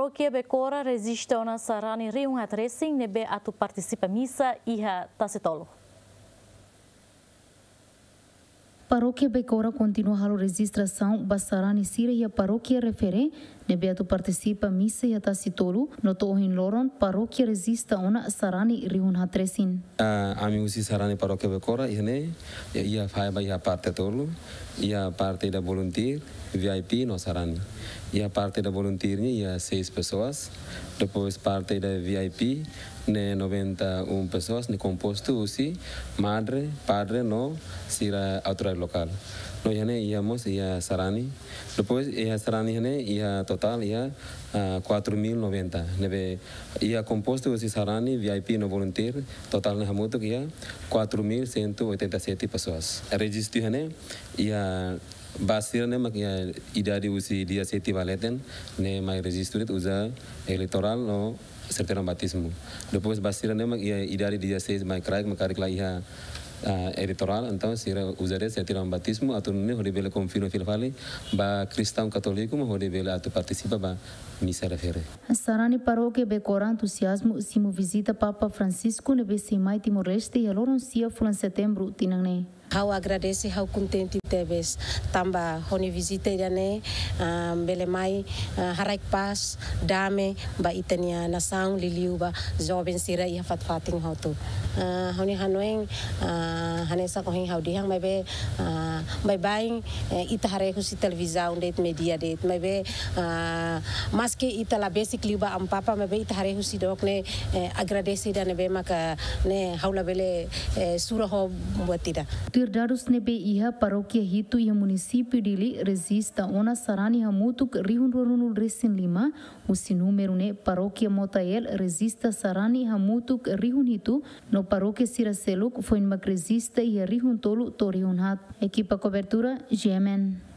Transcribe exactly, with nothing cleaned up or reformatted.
Parókia Becora rejista ona sarani rihun haat resin ne'ebé atu partisipa misa iha Tasitolu. Parókia Becora kontinua halo rejistrasaun ba sarani sira iha parókia refere ne'ebé atu partisipa misa iha Tasitolu, no to'o ohin loron parókia rejista ona sarani rihun haat resin. Ah, ami husi sarani parókia Becora iha ne'e, iha, iha fai ba iha parte tolu, iha parte ida volunteer, V I P no sarani. Iha parte ida volunteer nian iha seis pessoas, depois parte ida V I P ne'e noventa e um pessoas, ne'e kompostu husi madre, padre no sira autoridade lokál. No iha ne'e iha mós iha sarani. Depois iha sarani iha ne'e iha totál iha, ah, quatro mil noventa. Ne'ebé iha kompostu husi sarani, V I P no volunteer, totál ne'e hamutuk iha quatro mil cento e oitenta e sete pessoas. Rejistu iha ne'e iha ba sira ne'e mak iha idade husi dezassete ba leten, ne'e mai rejistu de'it uza eleitorál no sertifikadu batizmu. Depois ba sira ne'e mak iha idade dezasseis mai kraik, mak karik la iha, ah, eleitorál, entaun sira uza de'it sertifikadu batizmu, atu nune'e hodi bele konfirma fila fali ba kristaun katóliku mak hodi bele atu partisipa ba misa refere. Sarani parókia Becora entuziazmu simu vizita Papa Francisco ne'ebé sei mai Timor-Leste iha loron sia fulan Setembru tinan ne'e. Ha'u agradese, ha'u kontente tebes tanba ho nia vizita ida-ne'e, ah, bele mai, ah, haraik pás, dame ba ita-nia nasaun, liuliu ba joven sira iha fatin-fatin hotu. Ah, ha'u-nia hanoin, ah, hanesan ohin ha'u dehan maibé, ah, baibain, eh, ita haree husi televizaun de'it, média de'it, maibé, ah, maski ita la besik liu ba Amu Papa, maibé ita haree husi dook ne'e, eh, agradese ida ne'ebé maka ne'e ha'u labele, eh, sura ho buat ida. Tuir dadus ne'ebé iha, parókia hitu iha munisípiu Dili rejista ona sarani hamutuk rihun ruanulu resin lima, husi númeru ne'e parókia Motael rejista sarani hamutuk rihun hitu, no parókia sira seluk foin mak rejista iha rihun tolu to'o rihun haat. Ekipa kobertura, G M N.